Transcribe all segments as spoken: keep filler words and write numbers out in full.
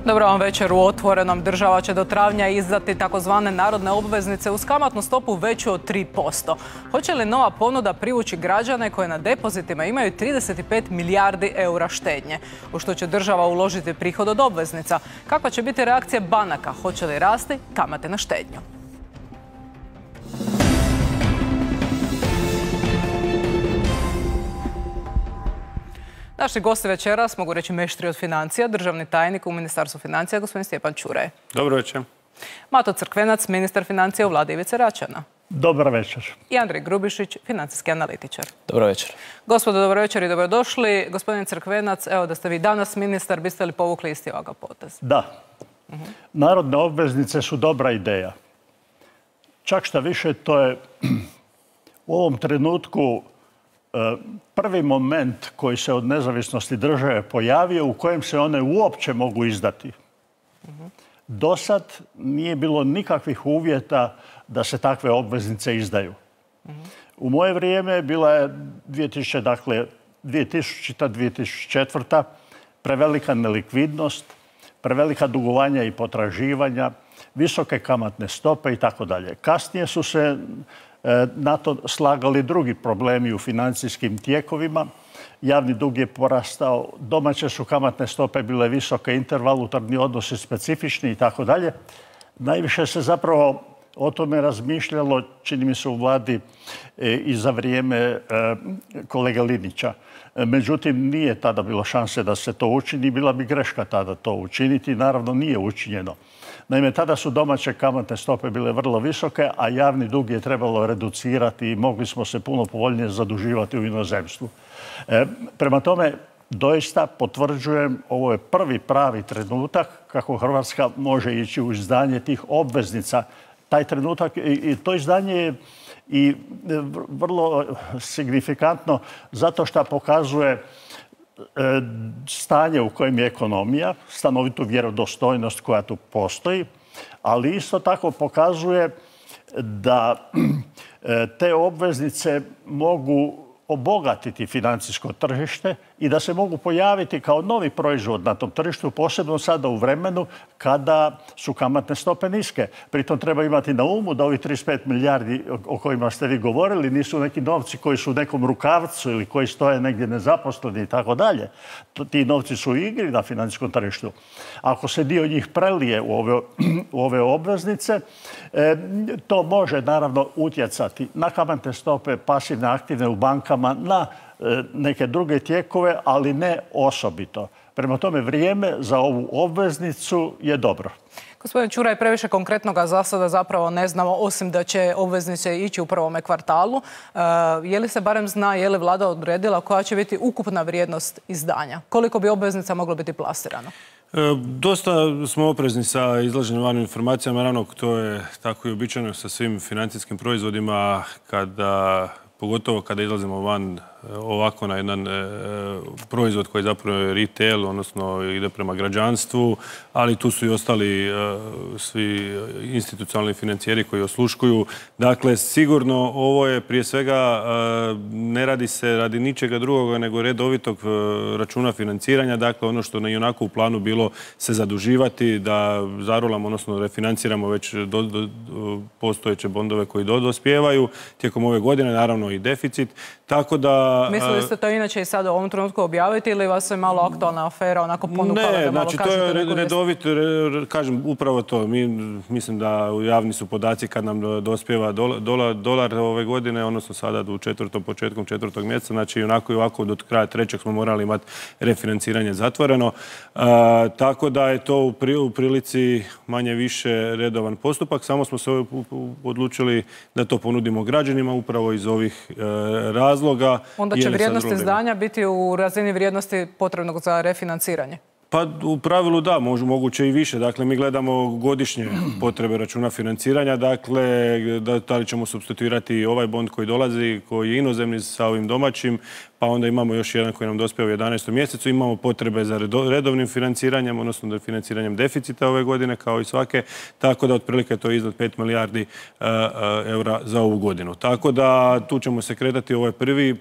Dobro vam večer. U Otvorenom država će do travnja izdati takozvane narodne obveznice uz kamatnu stopu veću od tri posto. Hoće li nova ponuda privući građane koje na depozitima imaju trideset pet milijardi eura štednje, u što će država uložiti prihod od obveznica? Kakva će biti reakcija banaka? Hoće li rasti kamate na štednju? Naši gosti večeras, mogu reći meštri od financija, državni tajnik u Ministarstvu financija, gospodin Stjepan Čuraj. Dobro večer. Mato Crkvenac, ministar financija u vladi Ivice Račana. Dobro večer. I Andrej Grubišić, financijski analitičar. Dobro večer. Gospodo, dobro večer i dobrodošli. Gospodin Crkvenac, evo da ste vi danas ministar, biste li povukli isti ovoga potez? Da. Narodne obveznice su dobra ideja. Čak šta više, to je u ovom trenutku prvi moment koji se od nezavisnosti države pojavio u kojem se one uopće mogu izdati. Do sad nije bilo nikakvih uvjeta da se takve obveznice izdaju. U moje vrijeme bila je dvije tisuće, dakle, dvije tisućita. dvije tisuće četvrta. prevelika nelikvidnost, prevelika dugovanja i potraživanja, visoke kamatne stope i tako dalje. Kasnije su se na to slagali drugi problemi u financijskim tijekovima. Javni dug je porastao, domaće su kamatne stope bile visoke, intervalutarni odnosi specifični i tako dalje. Najviše se zapravo o tome razmišljalo, čini mi se, u vladi i za vrijeme kolege Linića. Međutim, nije tada bilo šanse da se to učini. Bila bi greška tada to učiniti. Naravno, nije učinjeno. Naime, tada su domaće kamatne stope bile vrlo visoke, a javni dug je trebalo reducirati i mogli smo se puno povoljnije zaduživati u inozemstvu. E, prema tome, doista potvrđujem, ovo je prvi pravi trenutak kako Hrvatska može ići u izdanje tih obveznica. Taj trenutak i, i to izdanje je i vrlo signifikantno zato što pokazuje stanje u kojem je ekonomija, stanovitu vjerodostojnost koja tu postoji, ali isto tako pokazuje da te obveznice mogu obogatiti financijsko tržište i da se mogu pojaviti kao novi proizvod na tom tržištu, posebno sada u vremenu kada su kamatne stope niske. Pritom treba imati na umu da ovih trideset pet milijardi o kojima ste vi govorili nisu neki novci koji su u nekom rukavcu ili koji stoje negdje nezaposleni i tako dalje. Ti novci su u igri na financijskom tržištu. Ako se dio njih prelije u ove, u ove obveznice, to može naravno utjecati na kamatne stope, pasivne, aktivne u bankama, na neke druge tijekove, ali ne osobito. Prema tome, vrijeme za ovu obveznicu je dobro. Gospodin Čuraj, previše konkretnoga za sada zapravo ne znamo, osim da će obveznice ići u prvome kvartalu. Je li se barem zna, je li vlada odredila koja će biti ukupna vrijednost izdanja? Koliko bi obveznica moglo biti plasirano? Dosta smo oprezni sa izlaženim vanim informacijama. Naravno, to je tako i običajno sa svim financijskim proizvodima, kada pogotovo kada izlazimo van ovako na jedan e, proizvod koji zapravo je retail, odnosno ide prema građanstvu, ali tu su i ostali e, svi institucionalni financijeri koji osluškuju. Dakle, sigurno ovo je prije svega, e, ne radi se radi ničega drugoga nego redovitog e, računa financiranja. Dakle, ono što je onako u planu bilo se zaduživati, da zarolamo, odnosno refinanciramo već do, do, do postojeće bondove koji do, dospijevaju tijekom ove godine, naravno i deficit. Tako da... Mislili ste to inače i sad u ovom trenutku objaviti ili vas je malo aktualna afera onako ponukala da malo znači, kažete? Ne, znači to je redovito, kažem upravo to. Mi, mislim da javni su podaci kad nam dospijeva dolar, dolar ove godine, odnosno sada u četvrtom, početkom četvrtog mjeseca, znači onako i ovako do kraja trećeg smo morali imati refinanciranje zatvoreno. A, tako da je to u, pri, u prilici manje više redovan postupak. Samo smo se odlučili da to ponudimo građanima upravo iz ovih e, razloga. Onda će vrijednost izdanja biti u razini vrijednosti potrebnog za refinanciranje? Pa u pravilu da, moguće i više. Dakle, mi gledamo godišnje potrebe računa financiranja. Dakle, da, da li ćemo supstituirati ovaj bond koji dolazi, koji je inozemni sa ovim domaćim. pa onda imamo još jedan koji nam dospije u jedanaestom mjesecu. Imamo potrebe za redovnim financiranjem, odnosno da financiranjem deficita ove godine, kao i svake, tako da otprilike to je iznad pet milijardi eura za ovu godinu. Tako da tu ćemo se kretati, ovo je prvi,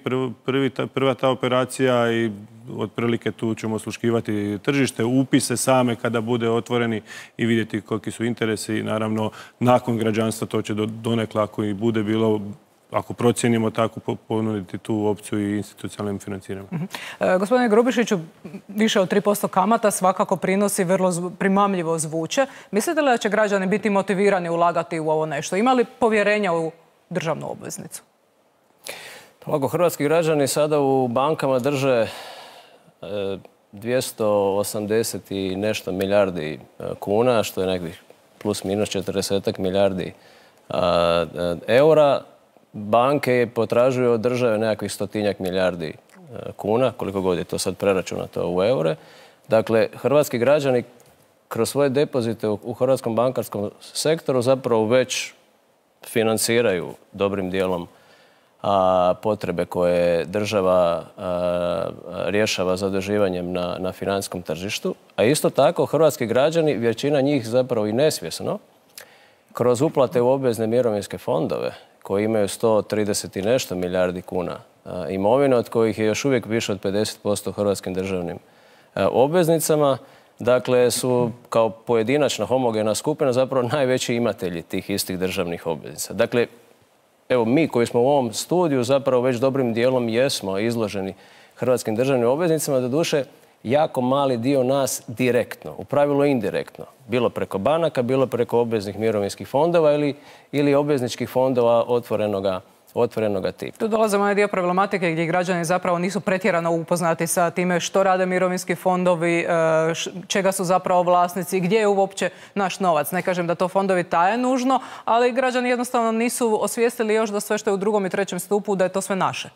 prvi, prva ta operacija i otprilike tu ćemo osluškivati tržište, upise same kada bude otvoreni i vidjeti koliki su interesi i naravno nakon građanstva to će donekle ako i bude bilo, ako procijenimo tako, ponuditi tu opciju i institucionalnim financiranjem. Mm -hmm. e, gospodine Grubišiću, više od tri posto kamata svakako prinosi vrlo zv primamljivo zvuče. Mislite li da će građani biti motivirani ulagati u ovo nešto? Ima li povjerenja u državnu obveznicu? Ovako, hrvatski građani sada u bankama drže dvjesto osamdeset i nešto milijardi kuna, što je nekih plus minus četrdeset milijardi eura. Banke potražuju od države nekakvih stotinjak milijardi kuna, koliko god je to sad preračunato u eure. Dakle, hrvatski građani kroz svoje depozite u hrvatskom bankarskom sektoru zapravo već financiraju dobrim dijelom a potrebe koje država a, rješava zaduživanjem na, na financijskom tržištu. A isto tako hrvatski građani, većina njih zapravo i nesvjesno, kroz uplate u obvezne mirovinske fondove koji imaju sto trideset i nešto milijardi kuna a, imovine, od kojih je još uvijek više od pedeset posto hrvatskim državnim a, obveznicama, dakle su kao pojedinačna homogena skupina zapravo najveći imatelji tih istih državnih obveznica. Dakle, evo, mi koji smo u ovom studiju zapravo već dobrim dijelom jesmo izloženi hrvatskim državnim obveznicama, doduše jako mali dio nas direktno, u pravilu indirektno, bilo preko banaka, bilo preko obveznih mirovinskih fondova ili, ili obvezničkih fondova otvorenoga, otvorenoga tipa. Tu dolazimo na dio problematike gdje građani zapravo nisu pretjerano upoznati sa time što rade mirovinski fondovi, čega su zapravo vlasnici, gdje je uopće naš novac. Ne kažem da to fondovi taje nužno, ali građani jednostavno nisu osvijestili još da sve što je u drugom i trećem stupu, da je to sve naše.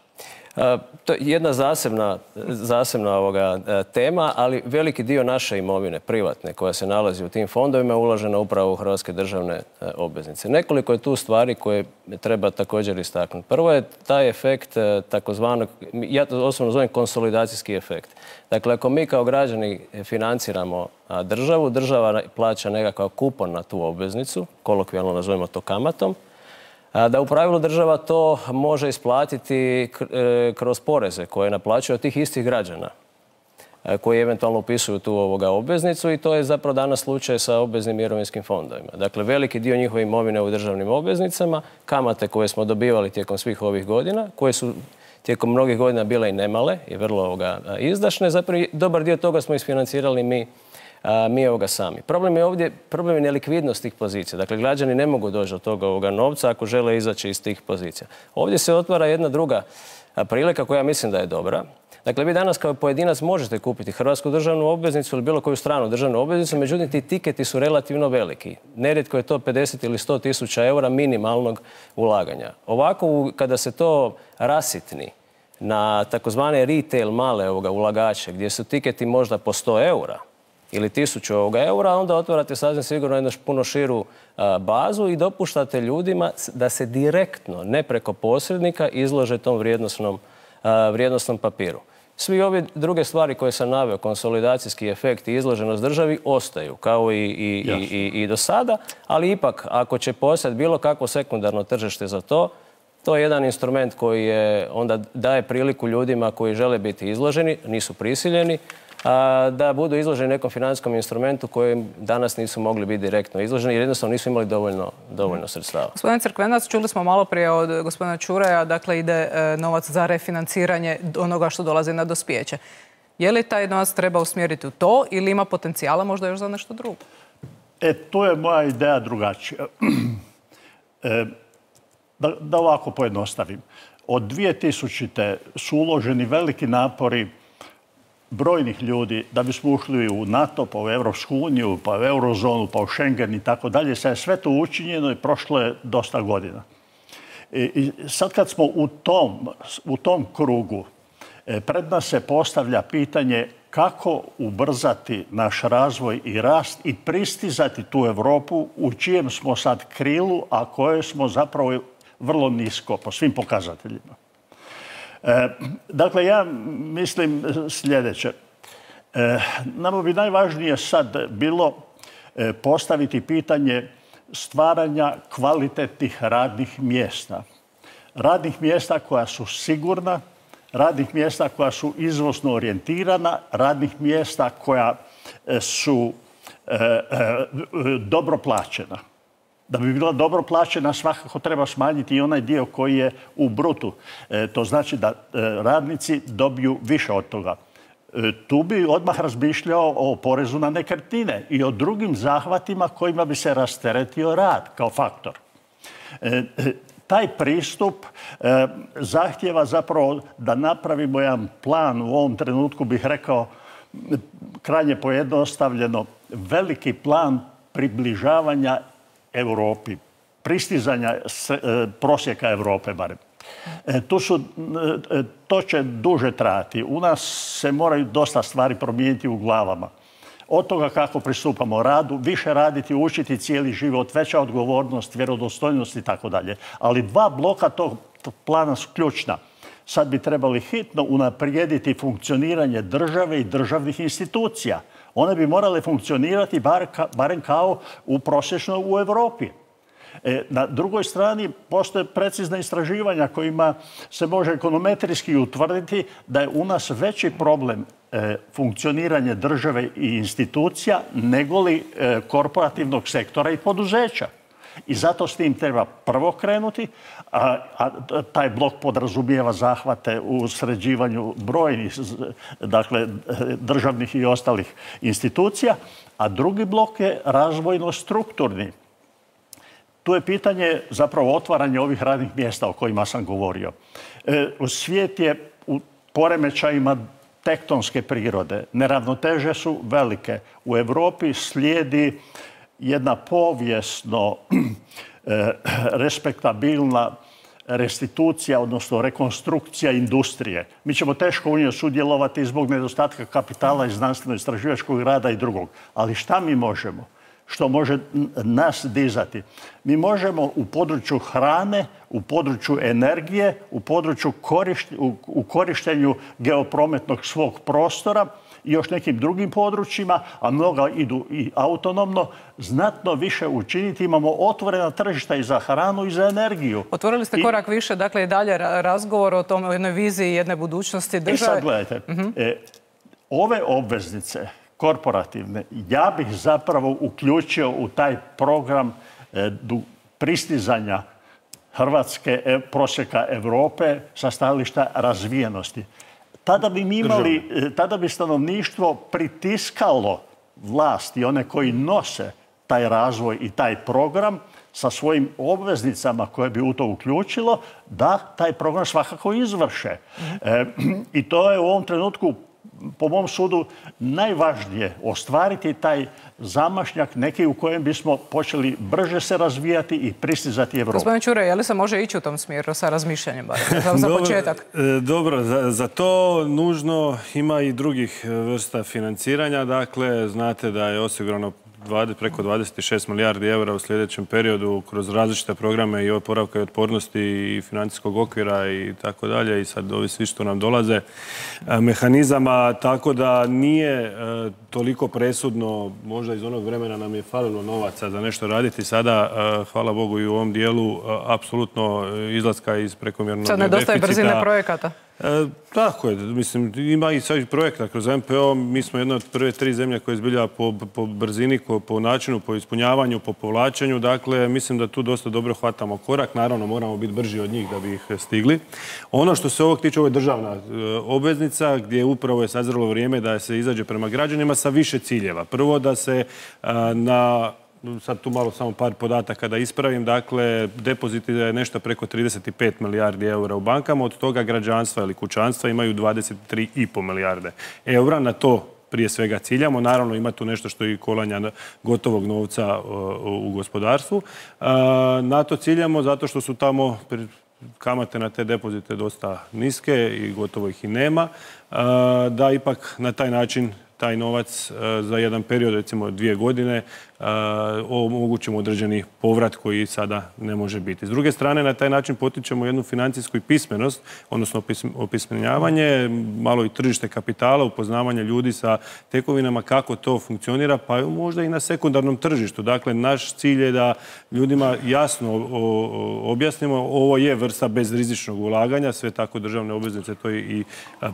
To je jedna zasebna, zasebna ovoga tema, ali veliki dio naše imovine, privatne, koja se nalazi u tim fondovima, je uložena upravo u hrvatske državne obveznice. Nekoliko je tu stvari koje treba također istaknuti. Prvo je taj efekt takozvanog, ja to osobno zovem konsolidacijski efekt. Dakle, ako mi kao građani financiramo državu, država plaća nekakav kupon na tu obveznicu, kolokvijalno nazovemo to kamatom, da u pravilu država to može isplatiti kroz poreze koje naplaćuje od tih istih građana koji eventualno upisuju tu ovoga obveznicu i to je zapravo danas slučaj sa obveznim mirovinskim fondovima. Dakle, veliki dio njihove imovine u državnim obveznicama, kamate koje smo dobivali tijekom svih ovih godina, koje su tijekom mnogih godina bile i nemale i vrlo ovoga izdašne, zapravo dobar dio toga smo isfinancirali mi A, mi ovoga sami. Problem je ovdje, problem je nelikvidnost tih pozicija. Dakle, građani ne mogu doći do toga ovoga novca ako žele izaći iz tih pozicija. Ovdje se otvara jedna druga prilika koja mislim da je dobra. Dakle, vi danas kao pojedinac možete kupiti hrvatsku državnu obveznicu ili bilo koju stranu državnu obveznicu, međutim ti tiketi su relativno veliki. Nerijetko je to pedeset ili sto tisuća eura minimalnog ulaganja. Ovako, kada se to rasitni na takozvane retail male ovoga ulagače, gdje su tiketi možda po sto eura, ili tisuću ovoga eura, onda otvarate sasvim sigurno jednu puno širu a, bazu i dopuštate ljudima da se direktno, ne preko posrednika, izlože tom vrijednosnom, a, vrijednosnom papiru. Svi ove druge stvari koje sam naveo, konsolidacijski efekt i izloženost državi, ostaju kao i, i, i, i, i do sada, ali ipak ako će postojati bilo kakvo sekundarno tržište za to, to je jedan instrument koji je, onda daje priliku ljudima koji žele biti izloženi, nisu prisiljeni, a, da budu izloženi nekom financijskom instrumentu kojem danas nisu mogli biti direktno izloženi jer jednostavno nisu imali dovoljno, dovoljno sredstava. Gospodin Crkvenac, čuli smo malo prije od gospodina Čuraja, dakle ide e, novac za refinanciranje onoga što dolazi na dospijeće. Je li taj novac treba usmjeriti u to ili ima potencijala možda još za nešto drugo? E, tu je moja ideja drugačija. e, da, da ovako pojednostavim. Od dvije tisućite su uloženi veliki napori brojnih ljudi da bismo ušli u NATO, pa u Evropsku uniju, pa u Eurozonu, pa u Schengen i tako dalje. Sad je sve to učinjeno i prošlo je dosta godina. I sad kad smo u tom, u tom krugu, pred nas se postavlja pitanje kako ubrzati naš razvoj i rast i pristizati tu Europu u čijem smo sad krilu, a koje smo zapravo vrlo nisko po svim pokazateljima. Dakle, ja mislim sljedeće. Nama bi najvažnije sad bilo postaviti pitanje stvaranja kvalitetnih radnih mjesta. Radnih mjesta koja su sigurna, radnih mjesta koja su izvozno orijentirana, radnih mjesta koja su e, e, dobro plaćena. Da bi bila dobro plaćena svakako treba smanjiti i onaj dio koji je u brutu. E, to znači da e, radnici dobiju više od toga. E, tu bi odmah razmišljao o porezu na nekretnine i o drugim zahvatima kojima bi se rasteretio rad kao faktor. E, e, Taj pristup e, zahtjeva zapravo da napravimo jedan plan, u ovom trenutku bih rekao krajnje pojednostavljeno, veliki plan približavanja Europi, pristizanja se, e, prosjeka Europe barem. E, tu su, e, to će duže trajati. U nas se moraju dosta stvari promijeniti u glavama. Od toga kako pristupamo radu, više raditi, učiti cijeli život, veća odgovornost, vjerodostojnost i tako dalje. Ali dva bloka tog plana su ključna. Sad bi trebali hitno unaprijediti funkcioniranje države i državnih institucija. One bi morale funkcionirati bar ka, barem kao u prosječno u Europi. E, na drugoj strani postoje precizna istraživanja kojima se može ekonometrijski utvrditi da je u nas veći problem e, funkcioniranje države i institucija nego li e, korporativnog sektora i poduzeća. I zato s tim treba prvo krenuti, a, a taj blok podrazumijeva zahvate u sređivanju brojnih, dakle, državnih i ostalih institucija, a drugi blok je razvojno-strukturni. Tu je pitanje zapravo otvaranja ovih radnih mjesta o kojima sam govorio. E, svijet je u poremećajima tektonske prirode. Neravnoteže su velike. U Europi slijedi jedna povijesno e, respektabilna restitucija, odnosno rekonstrukcija industrije. Mi ćemo teško u njoj sudjelovati zbog nedostatka kapitala i znanstveno-istraživačkog rada i drugog. Ali šta mi možemo? Što može nas dizati? Mi možemo u području hrane, u području energije, u području korišt, u, u korištenju geoprometnog svog prostora i još nekim drugim područjima, a mnoga idu i autonomno, znatno više učiniti. Imamo otvorena tržišta i za hranu i za energiju. Otvorili ste I... korak više, dakle i dalje razgovor o tome, o jednoj viziji jedne budućnosti države. I sad gledajte, uh-huh. e, ove obveznice korporativne, ja bih zapravo uključio u taj program e, du, pristizanja Hrvatske e, prosjeka Europe sa stajališta razvijenosti. Tada bi mi imali, e, tada bi stanovništvo pritiskalo vlast i one koji nose taj razvoj i taj program sa svojim obveznicama koje bi u to uključilo, da taj program svakako izvrše. E, I to je u ovom trenutku po mom sudu najvažnije ostvariti taj zamašnjak neki u kojem bismo počeli brže se razvijati i pristizati Evropu. Gospodine Ćuraj, je li se može ići u tom smjeru sa razmišljanjem za, za početak? Dobro, dobro za, za to nužno ima i drugih vrsta financiranja. Dakle, znate da je osigurano preko dvadeset šest milijardi eura u sljedećem periodu kroz različite programe i oporavka i otpornosti i financijskog okvira i tako dalje. I sad ovi svi što nam dolaze mehanizama, tako da nije toliko presudno, možda iz onog vremena nam je falilo novaca za nešto raditi. Sada, hvala Bogu, i u ovom dijelu apsolutno izlaska iz prekomjernog deficita. Sad nedostaje brzine projekata. E, tako je. Mislim, ima i sad projekta kroz M P O. Mi smo jedna od prve tri zemlje koje izbilja po, po brzini, po, po načinu, po ispunjavanju, po povlačenju. Dakle, mislim da tu dosta dobro hvatamo korak. Naravno, moramo biti brži od njih da bi ih stigli. Ono što se ovog tiče, ovo je državna e, obveznica, gdje upravo je sazrelo vrijeme da se izađe prema građanima sa više ciljeva. Prvo, da se e, na... Sad tu malo samo par podataka da ispravim. Dakle, depoziti je nešto preko trideset pet milijardi eura u bankama. Od toga građanstva ili kućanstva imaju dvadeset tri i pol milijarde eura. Na to prije svega ciljamo. Naravno, ima tu nešto što je i kolanja gotovog novca u gospodarstvu. Na to ciljamo zato što su tamo kamate na te depozite dosta niske i gotovo ih i nema. Da ipak na taj način taj novac za jedan period, recimo dvije godine, omogućimo određeni povrat koji sada ne može biti. S druge strane, na taj način potičemo jednu financijsku pismenost, odnosno opismenjavanje, malo i tržište kapitala, upoznavanje ljudi sa tekovinama, kako to funkcionira, pa možda i na sekundarnom tržištu. Dakle, naš cilj je da ljudima jasno objasnimo, ovo je vrsta bezrizičnog ulaganja, sve tako državne obveznice to i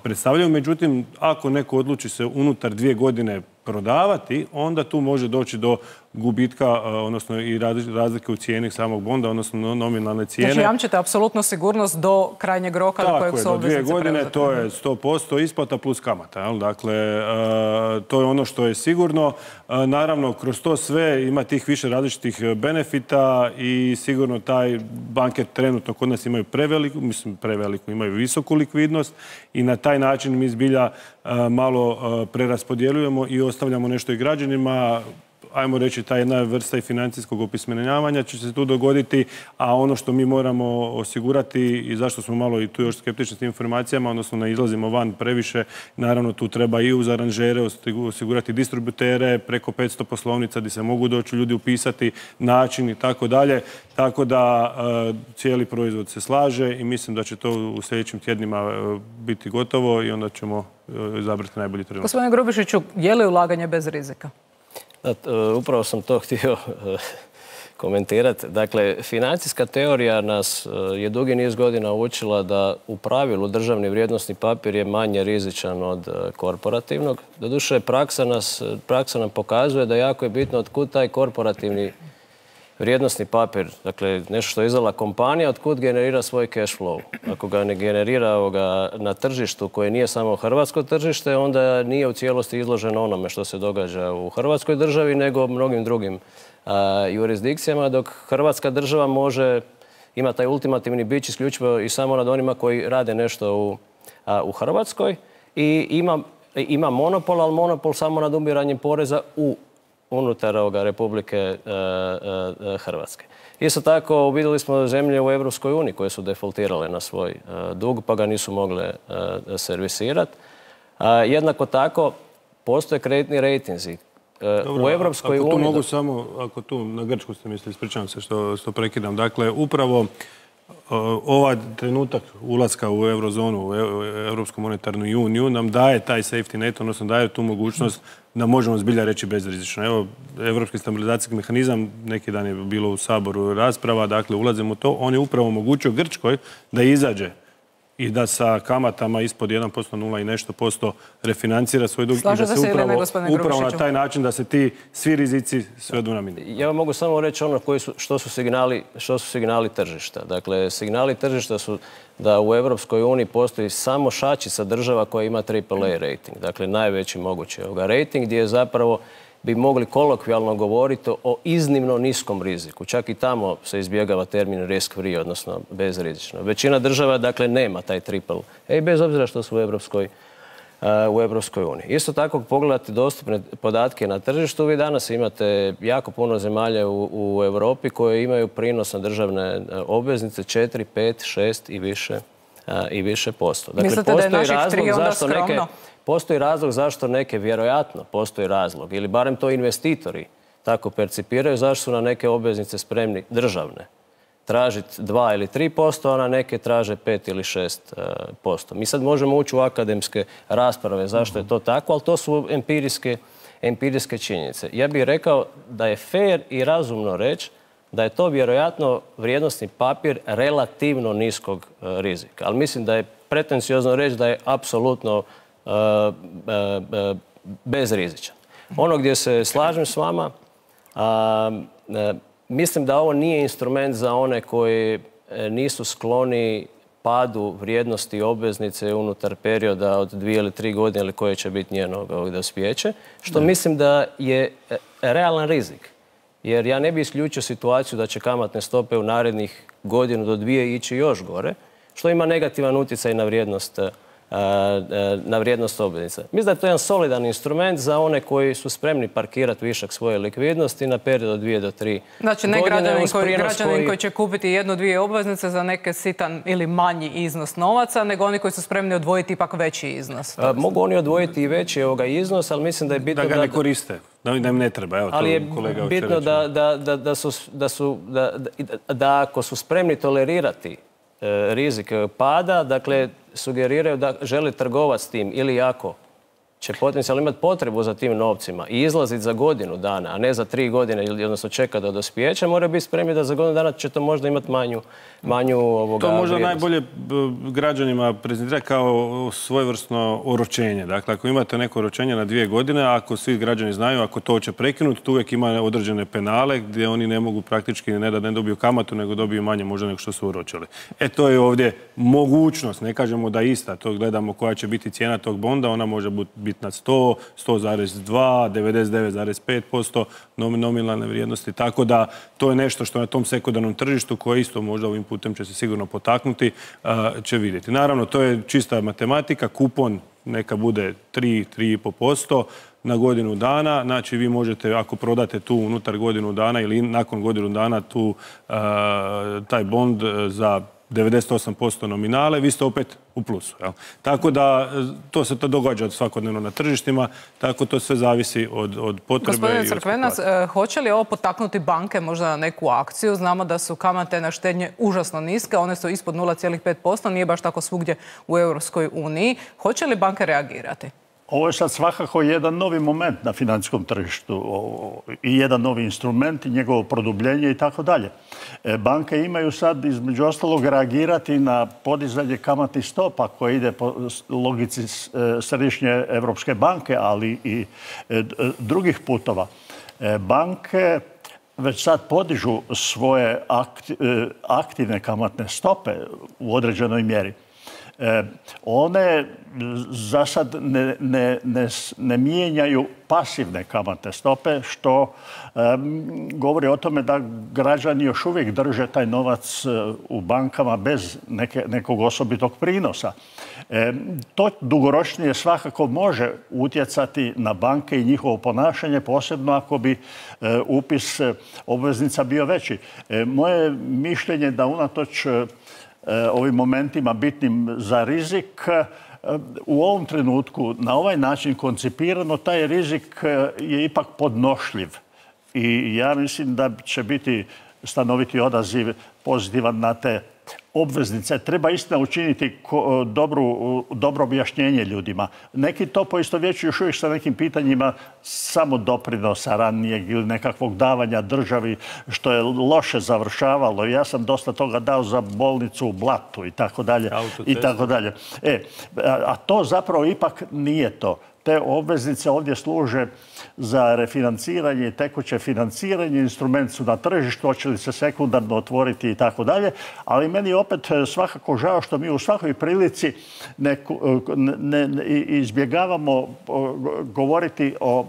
predstavljaju. Međutim, ako neko odluči se unutar dvije godine prodavati, onda tu može doći do gubitka, odnosno i razlike u cijeni samog bonda, odnosno nominalne cijene. Znači, jamčite apsolutno sigurnost do krajnjeg roka do kojeg su obveznice preuzete. Tako je, do dvije godine to je sto posto isplata plus kamata. Dakle, to je ono što je sigurno. Naravno, kroz to sve ima tih više različitih benefita i sigurno taj banke trenutno kod nas imaju preveliku, mislim preveliku, imaju visoku likvidnost i na taj način mi zbilja malo preraspodjeljujemo i ostavljamo nešto i građanima. Ajmo reći, ta jedna vrsta i financijskog opismenjavanja će se tu dogoditi, a ono što mi moramo osigurati i zašto smo malo i tu još skeptični s tim informacijama, odnosno ne izlazimo van previše, naravno tu treba i uz aranžere osigurati distributere, preko petsto poslovnica gdje se mogu doći ljudi upisati, način i tako dalje. Tako da cijeli proizvod se slaže i mislim da će to u sljedećim tjednima biti gotovo i onda ćemo izabrati najbolji trenutak. Gospodine Grubišiću, je li ulaganje bez rizika? Upravo sam to htio komentirati. Dakle, financijska teorija nas je dugi niz godina učila da u pravilu državni vrijednosni papir je manje rizičan od korporativnog. Doduše, praksa, nas, praksa nam pokazuje da jako je bitno otkud taj korporativni vrijednosni papir, dakle nešto što je izdala kompanija, otkud generira svoj cash flow. Ako ga ne generira ovoga na tržištu koje nije samo hrvatsko tržište, onda nije u cijelosti izloženo onome što se događa u Hrvatskoj državi, nego mnogim drugim a, jurisdikcijama, dok Hrvatska država može ima taj ultimativni bić isključivo i samo nad onima koji rade nešto u, a, u Hrvatskoj i ima, ima monopol, ali monopol samo nad ubiranjem poreza u unutar ovoga Republike e, e, Hrvatske. Isto tako vidjeli smo zemlje u Europskoj uniji koje su defoltirale na svoj e, dug pa ga nisu mogle e, servisirati. Jednako tako postoje kreditni rejtinzi. E, u Europskoj uniji... Ako tu mogu samo, ako tu na Grčku ste mislili, ispričavam se što, što prekidam. Dakle, upravo ovaj trenutak ulaska u eurozonu, u Europsku monetarnu uniju nam daje taj safety net, odnosno daje tu mogućnost da možemo zbilja reći bezrizično. Evo, Europski stabilizacijski mehanizam, neki dan je bilo u Saboru rasprava, dakle ulazimo u to, on je upravo omogućio Grčkoj da izađe i da sa kamatama ispod jedan posto, nula i nešto posto refinancira svoj dug. Slaže i da se, se upravo, ili ne, gospodine upravo na Grubišiću? taj način da se ti svi rizici svedu na minimum. Ja vam mogu samo reći ono koji su, što, su signali, što su signali tržišta. Dakle, signali tržišta su da u Europskoj uniji postoji samo šačica država koja ima triple A rating. Dakle, najveći mogući ovoga rating gdje je zapravo bi mogli kolokvijalno govoriti o iznimno niskom riziku. Čak i tamo se izbjegava termin risk free, odnosno bezrizično. Većina država, dakle, nema taj triple A, bez obzira što su u Europskoj, uh, u Europskoj uniji. Isto tako, pogledati dostupne podatke na tržištu, vi danas imate jako puno zemalja u, u Europi koje imaju prinos na državne obveznice četiri, pet, šest i više, uh, i više posto. Dakle, mislite da je naših tri onda skromno? Neke, Postoji razlog zašto neke, vjerojatno postoji razlog, ili barem to investitori tako percipiraju, zašto su na neke obveznice spremni državne tražiti dva ili tri posto, a na neke traže pet ili šest posto. Mi sad možemo ući u akademske rasprave zašto je to tako, ali to su empirijske, empirijske činjenice. Ja bih rekao da je fair i razumno reći da je to vjerojatno vrijednosni papir relativno niskog rizika. Ali mislim da je pretenciozno reći da je apsolutno Uh, uh, uh, bezrizičan. Ono gdje se slažem s vama, uh, uh, mislim da ovo nije instrument za one koji nisu skloni padu vrijednosti obveznice unutar perioda od dvije ili tri godine ili koje će biti njeno dospijeće, što ne. Mislim da je realan rizik. Jer ja ne bi isključio situaciju da će kamatne stope u narednih godinu do dvije ići još gore, što ima negativan utjecaj na vrijednost na vrijednost obveznica. Mislim da je to jedan solidan instrument za one koji su spremni parkirati višak svoje likvidnosti na period od dvije do tri godine. Znači, ne građanin koji, građanin koji će kupiti jednu, dvije obveznice za neke sitan ili manji iznos novaca, nego oni koji su spremni odvojiti ipak veći iznos. A, mogu oni odvojiti i veći ovoga iznos, ali mislim da je bitno da... Da ga ne koriste, da im ne treba. Evo, ali je kolega bitno da, da, da, da, su, da, su, da, da, da ako su spremni tolerirati e, rizik pada, dakle, sugeriraju da žele trgovati s tim ili ako će potencijalno imati potrebu za tim novcima i izlaziti za godinu dana, a ne za tri godine, odnosno čeka do dospijeća, mora biti spremni da za godinu dana će to možda imati manju, manju ovoga To možda vrijednost. najbolje građanima prezentira kao svojevrsno oročenje. Dakle, ako imate neko oročenje na dvije godine, ako svi građani znaju, ako to će prekinuti, tu uvijek ima određene penale gdje oni ne mogu praktički ne da ne dobiju kamatu, nego dobiju manje možda nego što su oročili. E, to je ovdje mogućnost. Ne kažemo da ista. To gledamo koja će biti cijena tog bonda. Ona može biti na sto, sto zarez dva, devedeset devet zarez pet posto nominalne vrijednosti. Tako da to je nešto što na tom sekundarnom tržištu koje isto možda ovim putem će se sigurno potaknuti, će vidjeti. Naravno, to je čista matematika. Kupon neka bude tri, tri i pol posto na godinu dana. Znači, vi možete, ako prodate tu unutar godinu dana ili nakon godinu dana tu taj bond za devedeset osam posto nominale, vi ste opet u plusu. Jel? Tako da to se to događa svakodnevno na tržištima, tako to sve zavisi od, od potrebe. Gospodine Crkvenac, hoće li ovo potaknuti banke možda na neku akciju? Znamo da su kamate na štednje užasno niske, one su ispod nula zarez pet posto, nije baš tako svugdje u Europskoj uniji. Hoće li banke reagirati? Ovo je sad svakako jedan novi moment na financijskom tržištu i jedan novi instrument i njegovo produbljenje i tako dalje. Banke imaju sad između ostalog reagirati na podizanje kamatnih stopa koje ide po logici Središnje Evropske banke, ali i drugih putova. Banke već sad podižu svoje aktivne kamatne stope u određenoj mjeri. One za sad ne, ne, ne, ne mijenjaju pasivne kamatne stope, što um, govori o tome da građani još uvijek drže taj novac u bankama bez neke, nekog osobitog prinosa. E, to dugoročnije svakako može utjecati na banke i njihovo ponašanje, posebno ako bi e, upis obveznica bio veći. E, moje mišljenje da unatoč ovim momentima bitnim za rizik, u ovom trenutku na ovaj način koncipirano, taj rizik je ipak podnošljiv. I ja mislim da će biti stanoviti odaziv pozitivan na te obveznice. Treba istina učiniti dobru, dobro objašnjenje ljudima. Neki to poistovjećuju još uvijek sa nekim pitanjima samo doprinosa ranijeg ili nekakvog davanja državi, što je loše završavalo. Ja sam dosta toga dao za bolnicu u Blatu i tako dalje. I tako dalje. E, a to zapravo ipak nije to. Te obveznice ovdje služe za refinanciranje i tekuće financiranje, instrument su na tržištu, hoće li se sekundarno otvoriti i tako dalje, ali meni je opet svakako žao što mi u svakoj prilici ne, ne, ne izbjegavamo govoriti o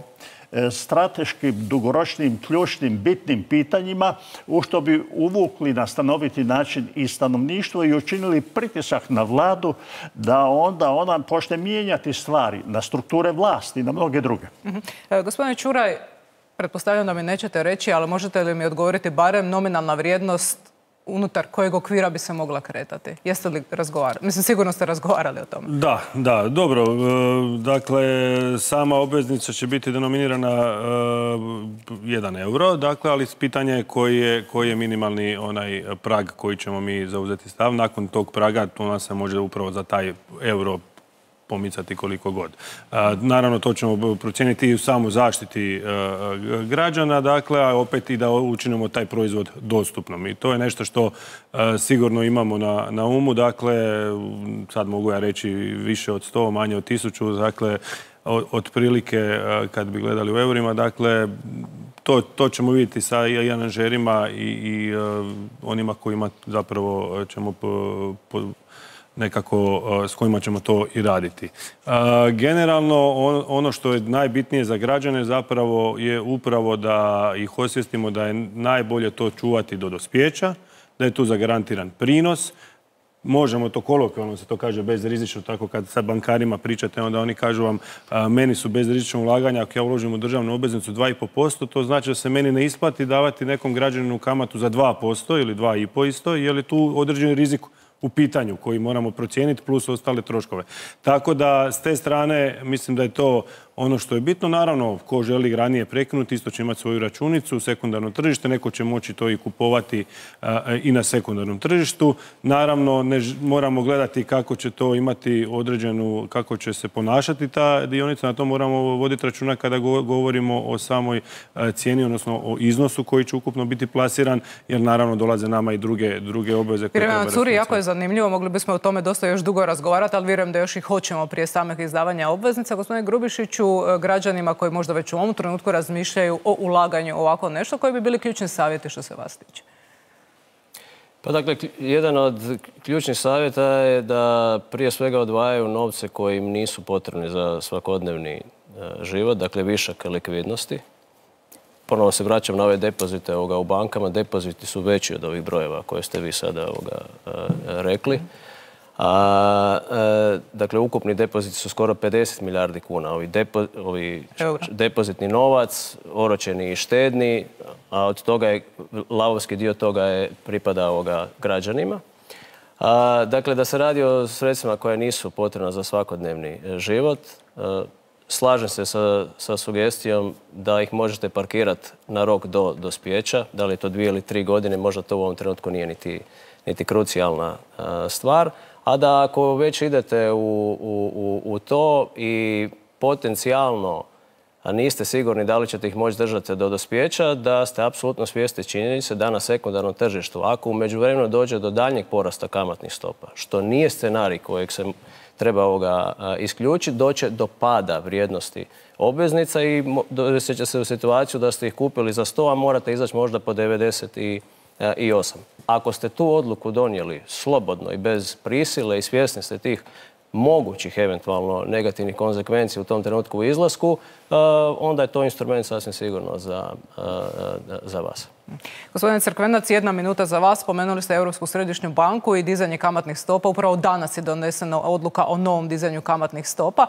strateškim, dugoročnim, ključnim, bitnim pitanjima u što bi uvukli na stanoviti način i stanovništvo i učinili pritisak na vladu da onda ona počne mijenjati stvari na strukture vlasti i na mnoge druge. Mm-hmm. e, gospodine Čuraj, pretpostavljam da mi nećete reći, ali možete li mi odgovoriti barem nominalna vrijednost unutar kojeg okvira bi se mogla kretati? Jeste li razgovarali? Mislim, sigurno ste razgovarali o tome. Da, da, dobro. Dakle, sama obveznica će biti denominirana jedan euro, dakle, ali pitanje je koji je, koji je minimalni onaj prag koji ćemo mi zauzeti stav. Nakon tog praga to nas se može upravo za taj euro pomicati koliko god. Naravno, to ćemo procijeniti i u samu zaštiti građana, dakle, a opet i da učinimo taj proizvod dostupnom. I to je nešto što sigurno imamo na, na umu. Dakle, sad mogu ja reći više od sto, manje od tisuću, dakle, otprilike kad bi gledali u eurima, dakle, to, to ćemo vidjeti sa i aranžerima i, i onima kojima zapravo ćemo po, po, nekako s kojima ćemo to i raditi. Generalno, ono što je najbitnije za građane zapravo je upravo da ih osvijestimo da je najbolje to čuvati do dospijeća, da je tu zagarantiran prinos. možemo to kolokvijalno se to kaže bezrizično, tako kad sa bankarima pričate, onda oni kažu vam meni su bezrizično ulaganja, ako ja uložim u državnu obveznicu dva i po posto, to znači da se meni ne isplati davati nekom građaninu kamatu za dva posto ili dva i po isto, jer je tu određeni rizik u pitanju koji moramo procijeniti plus ostale troškove. Tako da s te strane mislim da je to ono što je bitno. Naravno, ko želi ranije prekinuti, isto će imati svoju računicu, sekundarno tržište, neko će moći to i kupovati i na sekundarnom tržištu. Naravno, ne moramo gledati kako će to imati određenu, kako će se ponašati ta dionica, na to moramo voditi računa kada govorimo o samoj cijeni, odnosno o iznosu koji će ukupno biti plasiran, jer naravno dolaze nama i druge, druge obveze. Vjerujem, curi, jako je zanimljivo, mogli bismo o tome dosta još dugo razgovarati, ali vjerujem da još i hoćemo prije samih izdavanja obveznica. Gospodine Grubišiću, građanima koji možda već u ovom trenutku razmišljaju o ulaganju ovako nešto, koji bi bili ključni savjeti što se vas tiče? Pa dakle, jedan od ključnih savjeta je da prije svega odvajaju novce koji im nisu potrebni za svakodnevni život, dakle višak likvidnosti. Ponovo se vraćam na ove depozite u bankama. Depoziti su veći od ovih brojeva koje ste vi sada rekli. A, e, dakle, ukupni depoziti su skoro pedeset milijardi kuna. Ovi, depo, ovi depozitni novac, oročeni i štedni, a od toga je, lavovski dio toga je pripada ovoga građanima. A, dakle, da se radi o sredstvima koja nisu potrebna za svakodnevni život. A, slažem se sa, sa sugestijom da ih možete parkirati na rok do dospijeća. Da li je to dvije ili tri godine, možda to u ovom trenutku nije niti, niti krucijalna a, stvar. A da ako već idete u, u, u to i potencijalno a niste sigurni da li ćete ih moći držati do dospijeća, da ste apsolutno svjesni činjenice da na sekundarnom tržištu, ako u međuvremenu dođe do daljnjeg porasta kamatnih stopa, što nije scenarij kojeg se treba ovoga isključiti, doće do pada vrijednosti obveznica i dovesti će se u situaciju da ste ih kupili za sto, a morate izaći možda po devedeset osam. Ako ste tu odluku donijeli slobodno i bez prisile i svjesni ste tih mogućih eventualno negativnih konsekvencija u tom trenutku u izlasku, onda je to instrument sasvim sigurno za, za vas. Gospodine Crkvenac, jedna minuta za vas. Spomenuli ste Europsku središnju banku i dizanje kamatnih stopa. Upravo danas je donesena odluka o novom dizanju kamatnih stopa.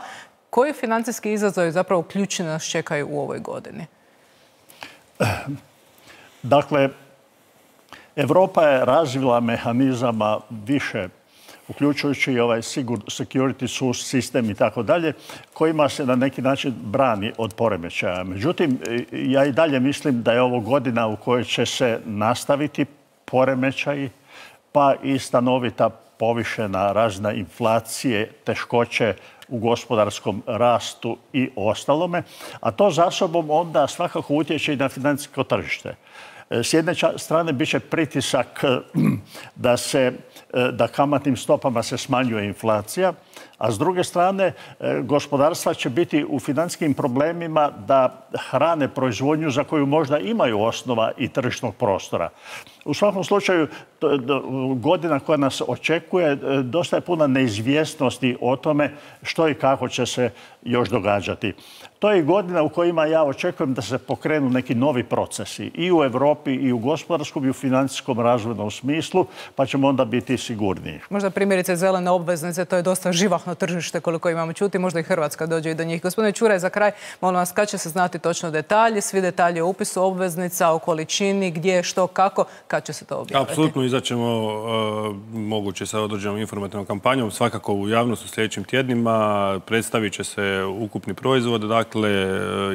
Koji financijski izazovi zapravo ključni nas čekaju u ovoj godini? Dakle, Europa je razvila mehanizama više, uključujući i ovaj security sistem i tako dalje, kojima se na neki način brani od poremećaja. Međutim, ja i dalje mislim da je ovo godina u kojoj će se nastaviti poremećaji, pa i stanovita povišena razina inflacije, teškoće u gospodarskom rastu i ostalome, a to za sobom onda svakako utječe i na financijsko tržište. S jedne strane bit će pritisak da, se, da kamatnim stopama se smanjuje inflacija, a s druge strane gospodarstva će biti u financijskim problemima da hrane proizvodnju za koju možda imaju osnova i tržišnog prostora. U svakom slučaju, godina koja nas očekuje, dosta je puna neizvjesnosti o tome što i kako će se još događati. To je godina u kojima ja očekujem da se pokrenu neki novi procesi i u Europi i u gospodarskom i u financijskom razvojnom smislu, pa ćemo onda biti sigurniji. Možda primjerice zelene obveznice, to je dosta živahno tržište koliko imamo čuti, možda i Hrvatska dođe i do njih. Gospodine Čuraj, za kraj, molim vas, kad će se znati točno detalji, svi detalji o upisu obveznica, o količini, gdje, što, kako, kad će se to objaviti? Apsolutno izaćemo uh, moguće sa određenom informativnom kampanjom, svakako u javnost u sljedećim tjednima, predstavit će se ukupni proizvod, dakle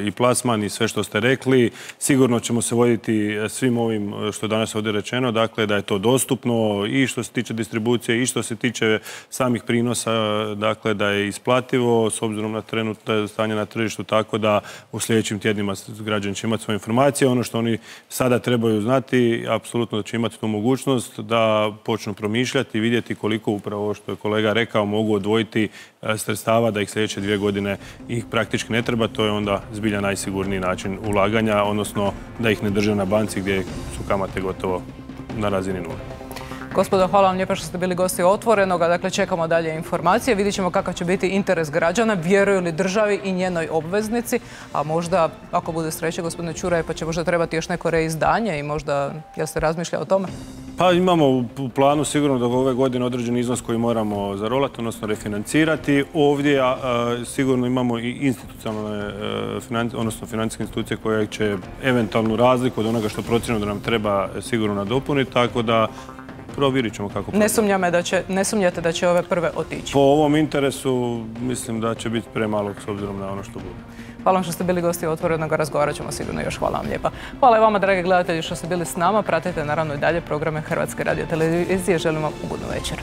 i plasman i sve što ste rekli. Sigurno ćemo se voditi svim ovim što je danas ovdje rečeno, dakle da je to dostupno i što se tiče distribucije i što se tiče samih prinosa, dakle da je isplativo s obzirom na trenutno stanje na tržištu, tako da u sljedećim tjednima građani će imati svoje informacije. Ono što oni sada trebaju znati, apsolutno da će imati tu mogućnost da počnu promišljati i vidjeti koliko upravo što je kolega rekao mogu odvojiti sredstava da ih sljedeće dvije godine ih praktički ne treba. To je onda zbilja najsigurniji način ulaganja, odnosno da ih ne drže na banci gdje su kamate gotovo na razini nule. Gospodo, hvala vam lijepa što ste bili gosti Otvorenoga. Dakle, čekamo dalje informacije. Vidjet ćemo kakav će biti interes građana, vjeruju li državi i njenoj obveznici, a možda, ako bude sreće, gospodine Čuraj, pa će možda trebati još neko reizdanje i možda, jel ste razmišljali o tome? Pa imamo u planu sigurno do ove godine određeni iznos koji moramo zarolati, odnosno refinancirati. Ovdje a, a, sigurno imamo i institucionalne, financi, odnosno financijske institucije koje će eventualnu razliku od onoga što procijenimo da nam treba sigurno nadopuniti, tako da provjerit ćemo kako... Ne, sumnjame da će, ne sumnjate da će ove prve otići? Po ovom interesu mislim da će biti premalog s obzirom na ono što bude. Hvala vam što ste bili gosti Otvorenog, razgovarat ćemo sigurno još. Hvala vam lijepa. Hvala i vama, dragi gledatelji, što ste bili s nama. Pratite naravno i dalje programe Hrvatske radiotelevizije. Želim vam ugodnu večer.